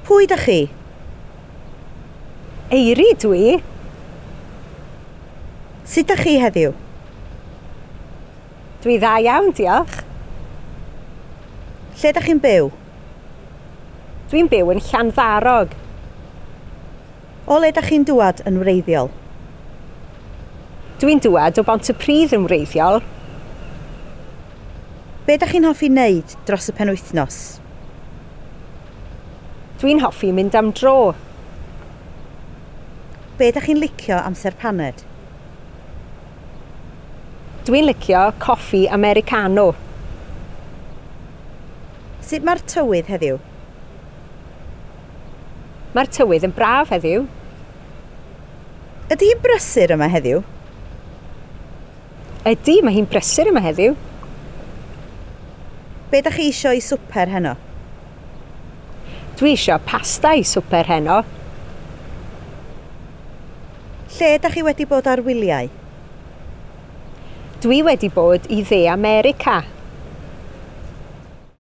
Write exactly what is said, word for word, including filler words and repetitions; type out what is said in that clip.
Pwy dach chi? Eiri dwi. Sut dach chi heddiw? Dwi dda iawn, diolch. Lle dach chi'n byw? Dwi'n byw yn Llanddarog. O le dach chi'n dŵad yn wreiddiol? Dwi'n dŵad o Bontypridd yn wreiddiol. Be dach chi'n hoffi wneud dros y penwythnos? Dwi'n hoffi mynd am dro. Be dach chi'n licio amser paned? Dwi'n licio coffi Americano. Sut mae'r tywydd heddiw? Mae'r tywydd yn braf heddiw. Ydy hi'n brysur yma heddiw? Ydy, mae hi'n brysur yma heddiw. Be dach chi isio i swper heno? Dwi isio pasta i swper heno. Lle dach chi wedi bod ar wyliau? Dwi wedi bod i Dde America.